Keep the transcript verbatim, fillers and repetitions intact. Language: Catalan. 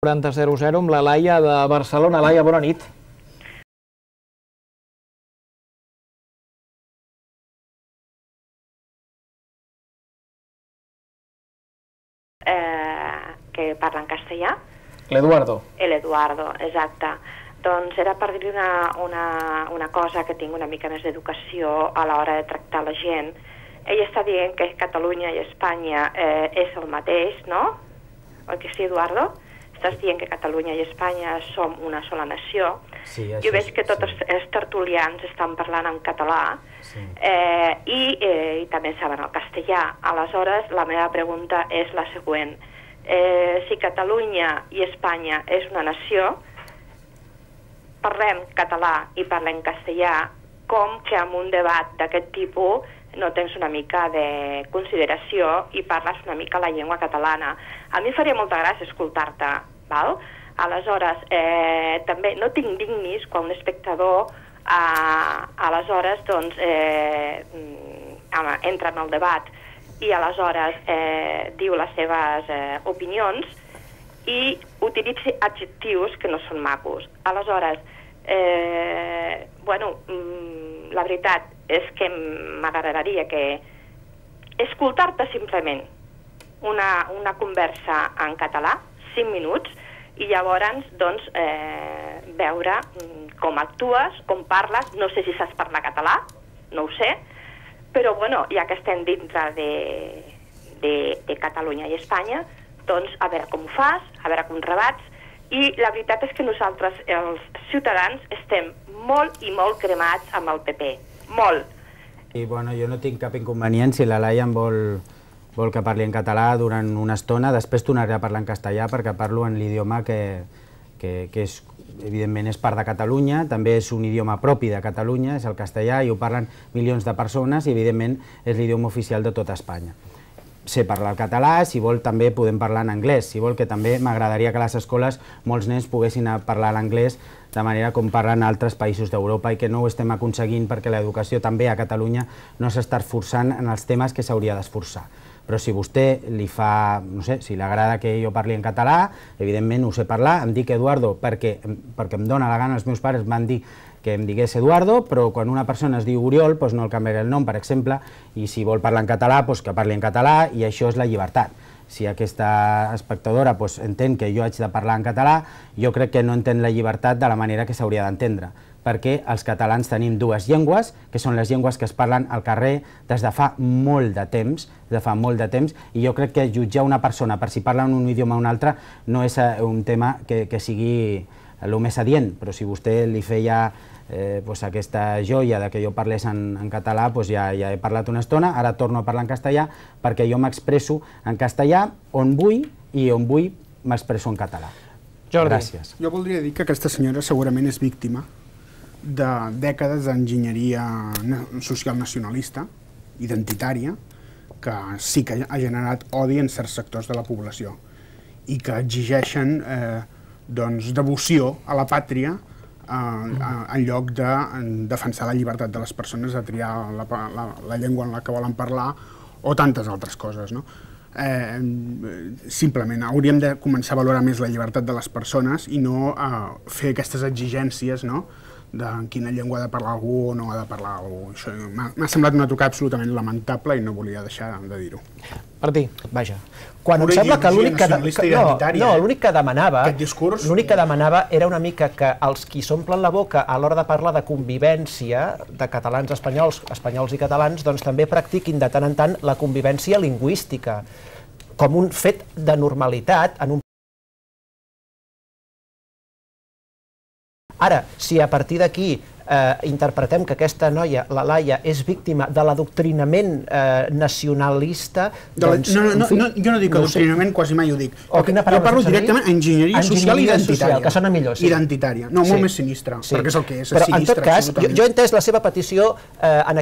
quaranta zero zero amb la Laia de Barcelona. Laia, bona nit. Eh, que parla en castellà. L'Eduardo. L'Eduardo, exacte. Doncs era per dir una, una, una cosa que tinc una mica més d'educació a l'hora de tractar la gent. Ell està dient que Catalunya i Espanya eh, és el mateix, no? Oi que sí, Eduardo? Estàs dient que Catalunya i Espanya som una sola nació. Sí, jo veig que tots sí. els tertulians estan parlant en català sí. eh, i, eh, i també saben el castellà. Aleshores, la meva pregunta és la següent. Eh, si Catalunya i Espanya és una nació, parlem català i parlem castellà, com que en un debat d'aquest tipus no tens una mica de consideració i parles una mica la llengua catalana. A mi faria molta gràcia escoltar-te, val? Aleshores, eh, també no tinc dignis quan un espectador eh, aleshores doncs, eh, entra en el debat i aleshores eh, diu les seves eh, opinions i utilitzi adjectius que no són macos. Aleshores, eh, bueno, la veritat és que m'agradaria que escoltar-te simplement una, una conversa en català, cinc minuts, i llavors doncs, eh, veure com actues, com parles. No sé si saps parlar català, no ho sé, però bueno, ja que estem dintre de, de, de Catalunya i Espanya, doncs a veure com ho fas, a veure com rebats. I la veritat és que nosaltres, els ciutadans, estem molt i molt cremats amb el P P. Molt. I bueno, jo no tinc cap inconvenient si la Laia em vol, vol que parli en català durant una estona. Després tornaré a parlar en castellà perquè parlo en l'idioma que, que, que és, evidentment és part de Catalunya, també és un idioma propi de Catalunya, és el castellà, i ho parlen milions de persones i evidentment és l'idioma oficial de tota Espanya. Sé parlar el català, si vol també podem parlar en anglès, si vol, que també m'agradaria que a les escoles molts nens poguessin parlar l'anglès de manera com parlen altres països d'Europa i que no ho estem aconseguint perquè l'educació també a Catalunya no s'està esforçant en els temes que s'hauria d'esforçar. Però si vostè li fa, no sé, si li agrada que jo parli en català, evidentment ho sé parlar, em dic Eduardo perquè, perquè em dóna la gana, els meus pares van dir que em digués Eduardo, però quan una persona es diu Oriol, doncs no el canviaré el nom, per exemple, i si vol parlar en català, doncs que parli en català, i això és la llibertat. Si aquesta espectadora doncs, entén que jo haig de parlar en català, jo crec que no entén la llibertat de la manera que s'hauria d'entendre, perquè els catalans tenim dues llengües, que són les llengües que es parlen al carrer des de fa molt de temps, de fa molt de temps, i jo crec que jutjar una persona per si parla en un idioma o un altre no és un tema que, que sigui el més adient, però si vostè li feia eh, pues aquesta joia de que jo parlés en, en català, pues ja, ja he parlat una estona, ara torno a parlar en castellà perquè jo m'expresso en castellà on vull i on vull m'expresso en català. Jordi. Gràcies. Jo voldria dir que aquesta senyora segurament és víctima de dècades d'enginyeria social nacionalista, identitària, que sí que ha generat odi en certs sectors de la població i que exigeixen eh, doncs, devoció a la pàtria eh, en lloc de defensar la llibertat de les persones a triar la, la, la llengua en la que volen parlar o tantes altres coses, no? Eh, simplement hauríem de començar a valorar més la llibertat de les persones i no eh, fer aquestes exigències, no?, de en quina llengua ha de parlar algú o no ha de parlar algú. Això m'ha semblat una trucada absolutament lamentable i no volia deixar de dir-ho. Martí, vaja. Quan em sembla que l'únic que, que, no, no, l'únic que demanava l'únic que demanava era una mica que els qui s'omplen la boca a l'hora de parlar de convivència de catalans espanyols, espanyols i catalans, doncs també practiquin de tant en tant la convivència lingüística com un fet de normalitat en un. Ara, si a partir d'aquí eh, interpretem que aquesta noia, la Laia, és víctima de l'adoctrinament eh, nacionalista, doncs... No, no, no, jo no dic adoctrinament, quasi mai ho dic. O quina paraula jo parlo directament enginyeria social i identitària. Que sona millor, sí. Identitària. No, molt més sinistre, perquè és el que és. Però, en tot cas, jo he entès la seva petició en aquest